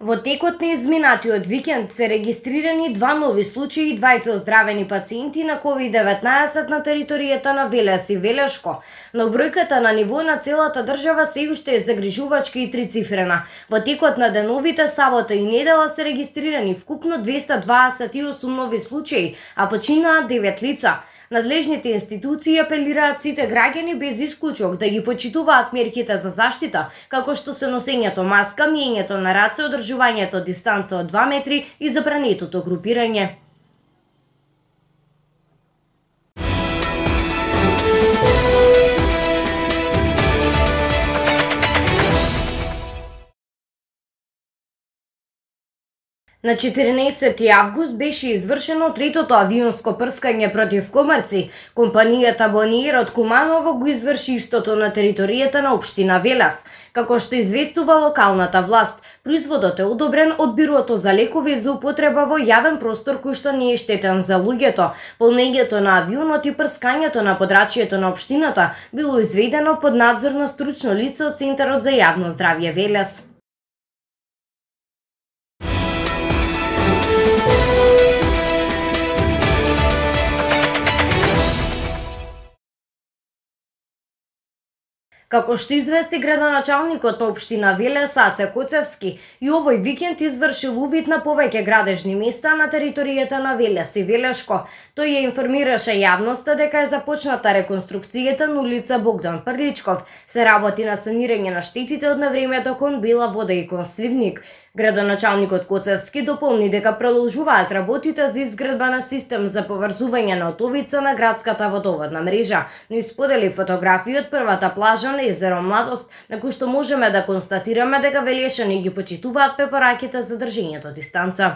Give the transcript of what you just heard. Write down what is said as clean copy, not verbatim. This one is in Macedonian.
Во текот на изминатиот викенд се регистрирани 2 нови случаи, 2 оздравени пациенти на COVID-19 на територијата на Велес и Велешко, но бројката на ниво на целата држава се уште е загрижувачка и трицифрена. Во текот на деновите сабота и недела се регистрирани вкупно 228 нови случаи, а починаа 9 лица. Надлежните институции апелираат сите граѓани без исклучок да ги почитуваат мерките за заштита, како што се носењето маска, миењето на раце, одржувањето дистанца од 2 метри и забранетото групирање. На 14 август беше извршено третото авионско прскање против комарци. Компанијата Бониер од Куманово го изврши истото на територијата на општина Велес. Како што известува локалната власт, производот е одобрен од Бирото за лекови за употреба во јавен простор кој што не е штетен за луѓето. Полнењето на авионот и прскањето на подрачјето на општината било изведено под надзор на стручно лице од Центарот за јавно здравје Велес. Како што извести градоначалникот на општина Велес Аце Коцевски, и овој викенд извршил увид на повеќе градежни места на територијата на Велес и Велешко. Тој ја информираше јавноста дека е започната реконструкцијата на улица Богдан Прличков. Се работи на санирање на штетите од навремето кон Бела вода и кон Сливник. Градоначалникот Коцевски дополни дека продолжуваат работите за изградба на систем за поврзување на отовица на градската водоводна мрежа, но исподели фотографии од првата плажа на езеро Младост, на кој што можеме да констатираме дека велешани ги почитуваат препораките за држењето дистанца.